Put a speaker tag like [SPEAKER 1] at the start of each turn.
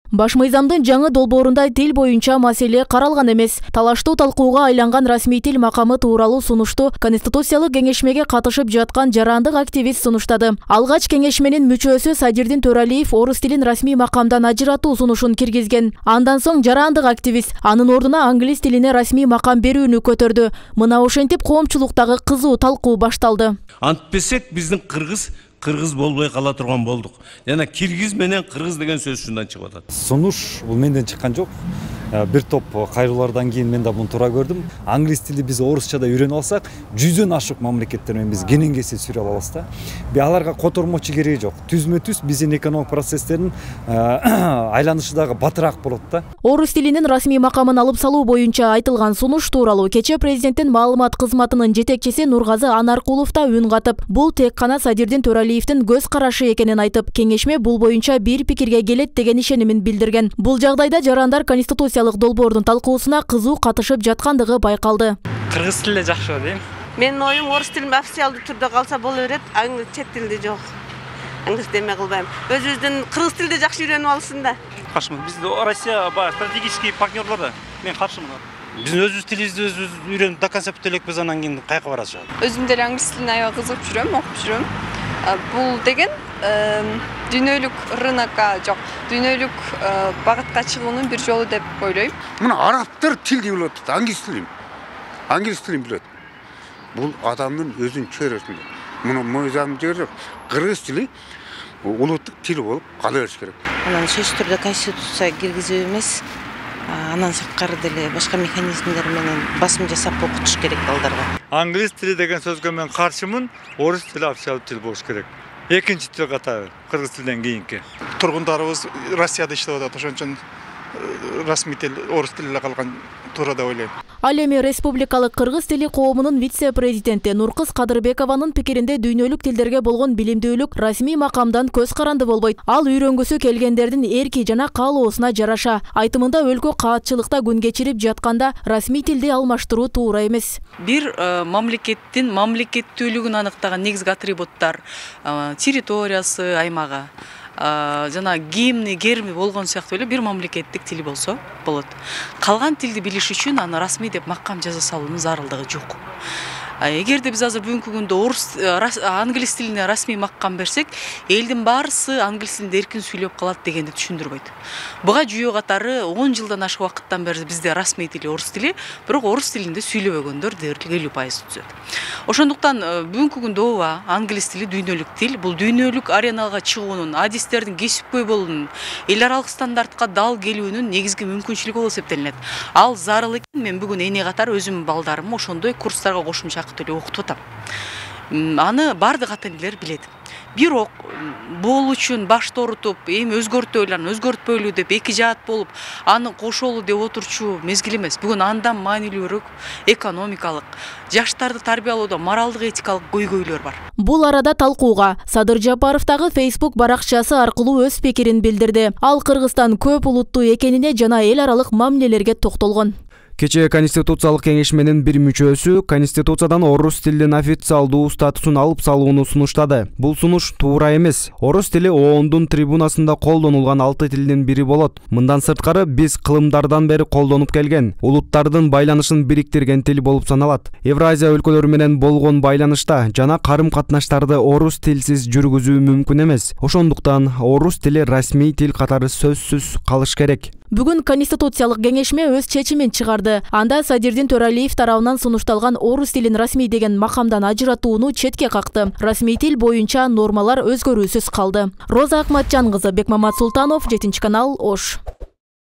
[SPEAKER 1] Баш мыйзамдын жаңы долбоорунда тил боюнча маселе каралган эмес. Талаштуу талкууга айланган расмий тил макамы тууралуу сунушту Конституциялык кеңешмеге катышып жаткан жарандык активист сунуштады. Алгач кеңешменин мүчөсү Садирдин Төралиев орус тилин расмий макамдан ажыратуу сунушун киргизген. Андан соң жарандык активист анын ордуна англис тилине расмий макам берүүнү көтөрдү. Мына ошентип коомчулуктагы кызуу талкуу башталды.
[SPEAKER 2] Антпесек биздин кыргыз болбой кала турган болдук. Жана киргиз менен кыргыз деген сөз ушундан чыгып атат.
[SPEAKER 3] Сунуш бул менден чыккан жок. Бир топ кайрылуулардан кийин мен да муну туура көрдүм. Англис тили биз орусчада үйрөнүп алсак, 100дөн ашык мамлекеттер менен биз кененкесе сүрө алабыз да. Аларга котормочу кереги жок. Түзмө-түз биздин экономик процесстердин айланышы дагы батыраак болот да.
[SPEAKER 1] Орус тилинин расмий макамын алып салуу боюнча айтылган сунуш тууралуу кече президенттин маалымат кызматынын жетекчиси Нургазы Анаркулов да үн катып, бул тек гана Садирдин Төралиевдин көз карашы экенин айтып, кеңешме бул боюнча бир пикирге келет деген ишенимин билдирген. Бул жагдайда жарандар Конституциялык долбоордун талкуусуна кызуу катышып жаткандыгы байкалды.
[SPEAKER 4] Кыргыз тили жакшы дейм.
[SPEAKER 5] Менин оюм орус тилин официалдуу түрдө калса боло берет, чет тилде жок. Англис деме кылбайм. Өзүбүздүн кыргыз тилди жакшы үйрөнүп алсын да.
[SPEAKER 4] Каршымын. Биз Россия стратегический партнерлор да. Мен каршымын. Биз өзүбүз тилибизди өзүбүз үйрөнүп до конца бүтө элекпиз, анан кийин кайка барасыз.
[SPEAKER 6] Өзүм деле англис тилине аябай кызыгып жүрөм, окуп жүрөм. Бул деген дүйнөлүк рынокко жок, дүйнөлүк багытка чыгуунун бир жолу деп ойлойм.
[SPEAKER 7] Мына арабтар тилди билет, англис тилин билет. Бул адамдын өзүнүн чөйрөсүндө. Муну мыйзам жер жок. Кыргыз тили улуттук тил болуп кала бериш керек.
[SPEAKER 8] Анан сөзсүз түрдө конституцияга киргизүү эмес, анан сырткары деле башка механизмдер менен басым жасап окутуш керек балдарга.
[SPEAKER 9] Англис тили деген сөзгө мен каршымын, орус тили официалдуу тил болуш керек. Экинчи тил катары, кыргыз тилден кийинки.
[SPEAKER 10] Тургундарыбыз Россияда иштеп атат, ошон үчүн расмий тил орус тилине калган туура деп ойлойм.
[SPEAKER 1] Ал эми республикалык кыргыз тили коомунун вице-президенти Нуркыз Кадырбекованын пикиринде дүйнөлүк тилдерге болгон билимдүүлүк расмий макамдан көз каранды болбойт. Ал үйрөнгүсү келгендердин эрки жана каалоосуна жараша. Айтымында өлкө каатчылыкта күн кечирип жатканда расмий тилди алмаштыруу туура эмес.
[SPEAKER 11] Бир мамлекеттин мамлекеттүүлүгүн аныктаган негизги атрибуттар территориясы, аймагы, жана гимни, герби болгон сыяктуу эле бир мамлекеттик тил болсо болот. Калган тилди билиш үчүн аны расмий деп макам жаза салуунун зарылдыгы жок. Эгерде биз азыр бүгүнкү күндө англис тилине расмий макам берсек, элдин баарысы англис тилинде эркин сүйлөп калат дегенди түшүндүрбөйт. Буга жүйө катары 10 жылдан ашык убакыттан бери бизде расмий тили орус тили, бирок орус тилинде сүйлөбөгөндөр дээрлик 50% түзөт. Ошондуктан бүгүнкү күндө ооба англис тили дүйнөлүк тил, бул дүйнөлүк ареналга чыгуунун, адистердин кесипкөй болуунун, эл аралык стандартка дал келүүнүн негизги мүмкүнчүлүгү болуп эсептелинет. Ал зарыл экен. Мен бүгүн эне катары өзүмдүн балдарымды ошондой курстарга кошумча окутуп атам. Аны бардык ата-энелер билет. Бирок бул үчүн башты орутуп, эми өзгөртөйлөр, өзгөртпөйлү деп эки жаат болуп, аны кошолу деп отурчу мезгил эмес. Бүгүн андан маанилүүрөөк экономикалык, жаштарды тарбиялоодо моралдык этикалык көйгөйлөр бар.
[SPEAKER 1] Бул арада талкууга Садыр Жапаров дагы Facebook баракчасы аркылуу өз пикирин билдирди. Ал Кыргызстан көп улуттуу экенине жана эл аралык мамилелерге токтолгон.
[SPEAKER 12] Кечээ Конституциялык кеңешменин бир мүчөсү Конституциядан орус тилинин официалдуу статусун алып салууну сунуштады. Бул сунуш туура эмес. Орус тили ООНдун трибунасында колдонулган 6 тилдин бири болот. Мындан сырткары биз кылымдардан бери колдонуп келген, улуттардын байланышын бириктирген тил болуп саналат. Евразия өлкөлөрү менен болгон байланышта жана карым-катнаштарды орус тилсиз жүргүзүү мүмкүн эмес. Ошондуктан орус тили расмий тил катары сөзсүз калыш керек.
[SPEAKER 1] Бүгүн Конституциялык кеңешме өз чечимин чыгарды. Анда Садирдин Төралиев тарабынан сунушталган орус тилин расмий деген макамдан ажыратууну четке какты. Расмий тил боюнча нормалар өзгөрүүсүз калды. Роза Акматжан кызы, Бекмамат Султанов, 7 канал, Ош.